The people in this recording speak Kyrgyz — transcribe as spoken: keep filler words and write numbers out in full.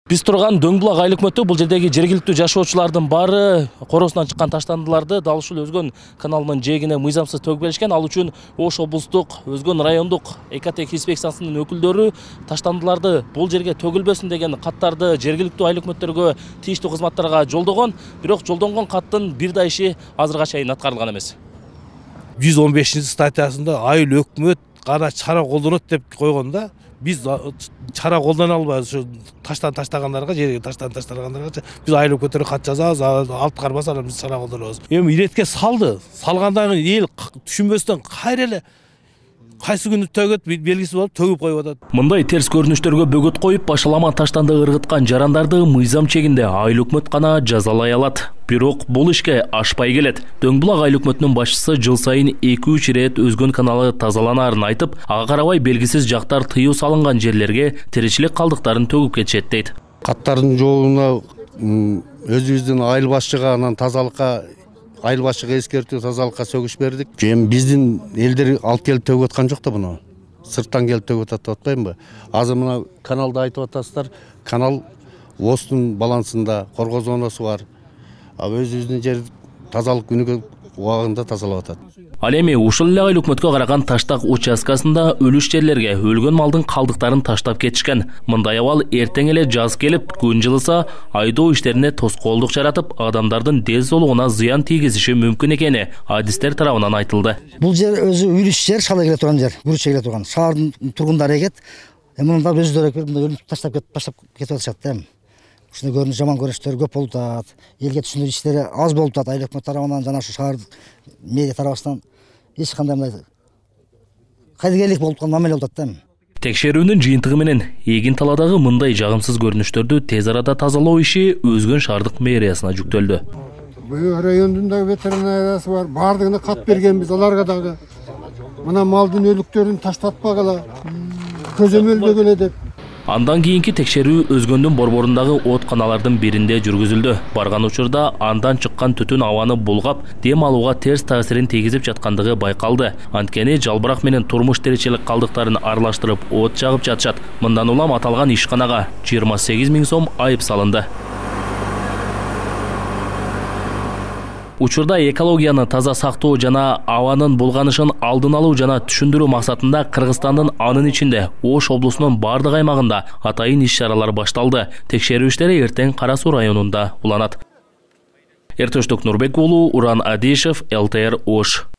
Биз турган Дөңбулак айыл өкмөтү бул жердеги жергиликтүү жашоочулардын баары коросунан чыккан таштандыларды дал ушул Өзгөн каналынын жээгине мыйзамсыз төгүп беришкен. Ал үчүн Ош облустук, Өзгөн райондук экотех инспекциясынын өкүлдөрү таштандыларды бул жерге төгүлбөсүн деген каттарды жергиликтүү айыл өкмөттөргө, тийиштүү кызматтарга жолдогон. Бирок жолдонгон каттын бир да иши азырга чейин аткарылган эмес. жүз он бешинчи статьясында айыл өкмөт гана чара колдонот деп койгондо, биз чара колдона албайбыз. Ушу таштан таштагандарга, жерге таштан таштагандарга биз айыл өкмөттөргө кат жазабыз, алып карбаса биз чара колдонобуз. Эми иретке салды. Салгандан кийин эл түшүнбөстөн кайра эле кайсы күнү төгөт белгисиз болуп төгүп коюп атат. Мындай терс көрүнүштөргө бөгөт коюп, башалама таштанды ыргыткан жарандарды мыйзам чегинде айыл өкмөт гана жазалай алат. Бирок бул ишке ашпай келет. Дөңбулак айыл өкмөтүнүн башчысы жыл сайын эки үч ирет Өзгөн каналы тазаланаарын айтып, ага карабай белгисиз жактар тыюу салынган жерлерге тиричилик калдыктарын төгүп кетишет дейт. Каттардын жоогуна өзүбүздүн айыл башчыга, анан тазалыкка айыл башчыга эскертүү, тазалыкка сөгүш бердик. Эми биздин элдер алып келип төгүп аткан жок да буну. Сырттан келип төгүп атат деп атпаймынбы? Азыр мына каналды айтып атасыздар. Канал Оштун балансында коргоо зонасы бар. Өзүбүздүн жер тазалык күнүгө убагында тазалап атат. Ал эми ушул эле айыл өкмөткө караган таштак участкасында өлүш жерлерге өлгөн малдын калдыктарын таштап кетишкен. Мындай абал эртең эле жаз келип, күн жылыса, айдоо иштерине тоскоолдук жаратып, адамдардын ден соолугуна зыян тийгизиши мүмкүн экени адистер тарабынан айтылды. Бул жер өзү үйлүш жер, шала келе турган жер, күрүчө келе турган. Шаардын тургундары экет. Мында өздөрү өлүп таштап кетип, таштап кетип атышат да. Ушундай көрүнүш, жаман көрүнүштөр көп болуп атат. Элге түшүндүрүү иштери аз болуп атат. Айыл өкмөт тарабынан жана ушу шаар медиа тарабынан эч кандай мындай кайдыгерлик болуп аткан мамиле болуп атат да. Текшерүүнүн жыйынтыгы менен эгин талаадагы мындай жагымсыз көрүнүштөрдү тез арада тазалоо иши Өзгөн шаардык мэриясына жүктөлдү. Бул райондун дагы ветеринариясы бар, бардыгына кат бергенбиз аларга дагы. Мына малдын өлүктөрүн таштатпагыла, көзөмөлдөгүлө деп. Андан кийинки текшерүү Өзгөндүн борборундагы оотканалардын биринде жүргүзүлдү. Барган учурда андан чыккан түтүн абаны булгап, дем алууга терс таасирин тийгизип жаткандыгы байкалды. Анткени жалбырак менен турмуш тиричилик калдыктарын аралаштырып от жагып жатышат. Мындан улам аталган ишканага жыйырма сегиз миң сом айып салынды. Учурда экологияны таза сактоо жана абанын булганышын алдын алуу жана түшүндүрүү максатында Кыргызстандын анын ичинде Ош облусунун бардык аймагында атайын иш-чаралар башталды. Текшерүү иштери эртең Кара Суу районунда уланат. Эртөштүк Нурбек уулу, Уран Адишев, эл тэ эр Ош.